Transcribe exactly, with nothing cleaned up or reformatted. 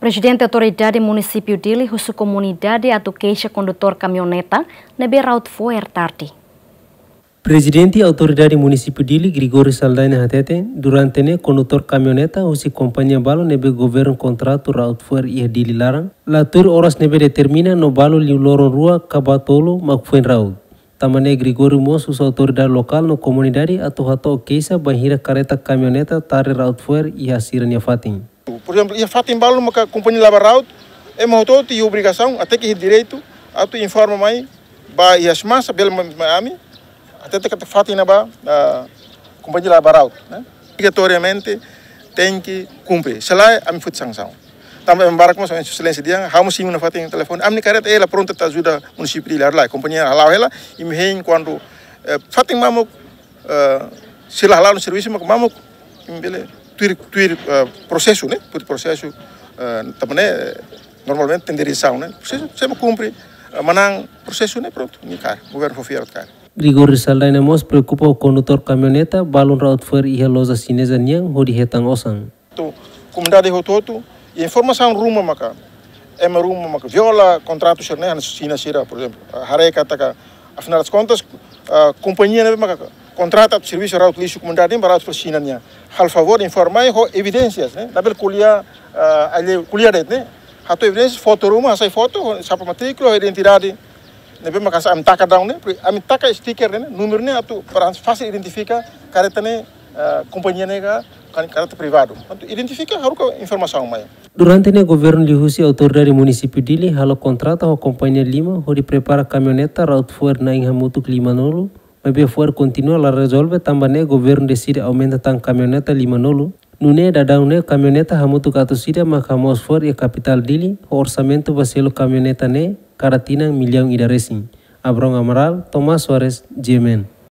Prezidente Autoridade Munisípiu Dili husu komunidade atu keixa kondutór kamioneta ne'ebé raut fo'er tarde. Prezidente Autoridade Munisípiu Dili, Gregório Saldanha, hateten, durante ne'e kondutór kamioneta husi kompañia balu ne'ebé governu kontratu raut fo'er iha Dili laran, la tuir oras ne'ebé determina no balu liu loron rua ka ba tolu mak foin raut. Tanba ne'e Gregório mós husu autoridade lokál no komunidade atu hato'o keixa bainhira karreta kamioneta tarde raut fo'er iha sira-nia fatin. Por ezemplu, iha fatin balu maka kompañia la ba raut, ema hotu-hotu iha obrigasaun, até ke iha direitu, atu informa mai ba iha SEMASA, bele mai, mai ami, até ke fatin ne'ebá, ah, kompañia la ba raut, ne'e? Obrigatoriamente tenke kumpre. Se lae, ami foti sansaun. Tanba ema barak mós, Exelénsia dehan, ha'u mós simu ona fatin telefone. Ami-nia karreta, ela pronta atu ajuda munisípiu Dili, lae. Kompañia hala'o hela, imi hein kuandu, eh, fatin mamuk, eh, sira hala'o servisu mak mamuk, imi bele tuir, tuir, eh, prosesu, ne'e? Tuir prosesu, eh, tanba ne'e, eh, normalmente tenke diresaun, ne'e? Prosesu, se ema kumpre, eh, manán prosesu, ne'e? Prontu, imi kaer, governu fó fiar kaer. Gregório Saldanha mós preokupa ho kondutór kamioneta balun raut fo'er iha loja xineza nian hodi hetan osan. Atu komunidade hotu-hotu, informasaun ruma maka, ema ruma maka viola kontratu sira-ne'e, hanesan Xina sira, por ezemplu, haree katak, afinál das contas, ah, kompañia ne'ebé maka kontrata servisu raut lixu komunidade, ba raut fo'er Xina nian. Halo favór, informa mai ho evidénsias, ne'e? Labele ko'alia, ah, ali ko'alia de'it, ne'e? Hato'o evidénsia, foto ruma, hasai foto, sapa matríkula, identidade, ne'ebé maka ami taka daudaun ne'e, ami taka stiker ne'e, númeru ne'e atu para fasil identifika karreta ne'e, eh, kompañia ne'e ka, ka karreta privadu. Atu identifika, haruka informasaun mai. Durante ne'e governu liuhusi Autoridade Munisípiu Dili halo kontratu ho kompañia lima hodi prepara kamioneta raut fo'er na'in hamutuk limanulu, maibé fo'er kontinua la rezolve tanba ne'e governu deside aumenta tan kamioneta limanulu. Nune'e daudaun ne'e kamioneta hamutuk atus ida mak hamoos fo'er iha kapitál Dili, ho orsamentu ba selu kamioneta ne'e kada tinan millaun ida resin. Abrão Amaral, Tomás Soares, G M N.